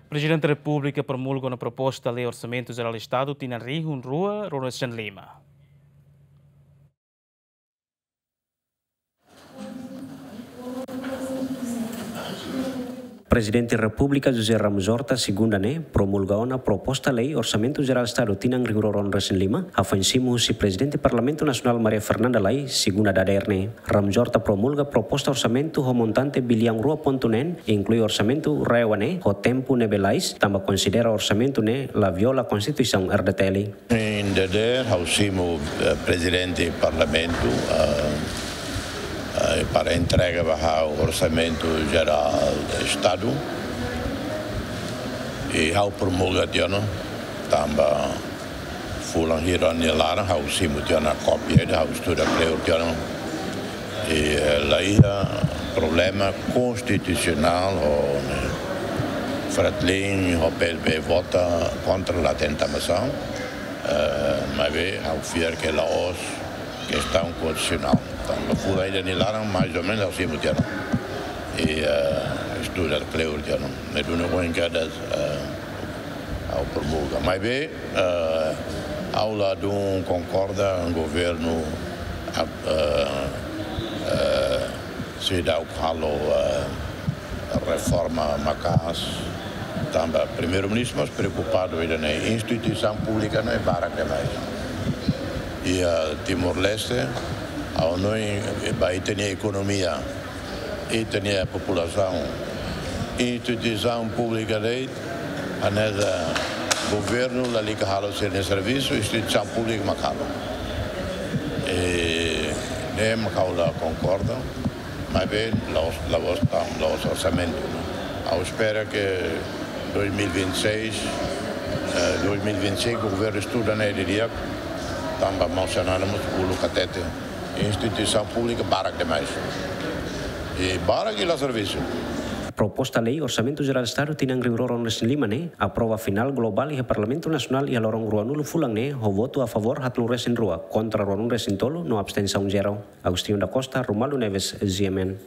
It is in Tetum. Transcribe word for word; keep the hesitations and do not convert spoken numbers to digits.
Prezidente Repúblika promulga ona proposta lei Orsamentu Jerál Estadu tinan rihun rua ruanulu-resin-lima. Prezidente Repúblika José Ramos Horta segunda ne'e promulga ona proposta lei Orsamentu Jerál Estadu tinan rihun rua ruanulu-resin-lima, hafoin simu husi Prezidente Parlamentu Nasionál Maria Fernanda Lay segunda dadeer ne'e. Ramos Horta promulga proposta orsamentu ho montante biliaun rua pontu neen, inklui orsamentu RAEOA ne'e ho tempu ne'ebé lalais, tanba konsidera orsamentu ne'e la viola Konstituisaun R D T L. Em dadeer, ha'u simu, eh, Prezidente Parlamentu, eh, eh, para entrega ba ha'u Orsamentu Jerál Estadu. I ha'u promulga tiha ona, tanba fulan hira nia laran, ha'u simu tiha ona kópia, ha'u estuda kleur tiha ona. I, eh, la iha problema konstitusionál ho, ne'e, Fretilin ho P L B vota kontra la tenta masang. Eh, maibé, ha'u fiar ke la'ós kestaun konstitusionál. Tanba fulan ida nia laran, mais ou menus, ha'u simu tiha ona. I, eh, estuda kleur tiha ona. Ne'e duni ohin kedas, eh, ha'u promulga. Maibé, eh, ha'u ladún konkorda governu, ah, eh, eh, seidauk halo, eh, reforma maka'as, tanba Primeiru-Ministru mós preokupadu ida-ne'e, instituisaun públika ne'e barak demais. I, eh, Timor-Leste, ha'u hanoin, eh, ba ita-nia ekonomia, ita-nia populasaun, instituisaun públika de'it, hanesan governu lalika halo sira-nia servisu, instituisaun públika mak halo. I ne'e mak ha'u la konkorda, maibé la'ós, la'ós tan, la'ós orsamentu. Ha'u espera ke dois mil e vinte e seis, eh, dois mil e vinte e cinco, governu estuda ne'e didi'ak, tanba maun Xanana mós uluk hatete, instituisaun públika barak demais. I barak i la servisu. Proposta lei Orsamentu Jerál Estadu tinan rihun rua ruanulu-resin-lima ne'e aprova finál globál iha Parlamentu Nasionál iha loron ruanulu fulan ne'e, ho votu a favór haatnulu-resin-rua, kontra ruanulu-resin-tolu no abstensaun zero. Agostinho da Costa, Romualdo Neves, G M N.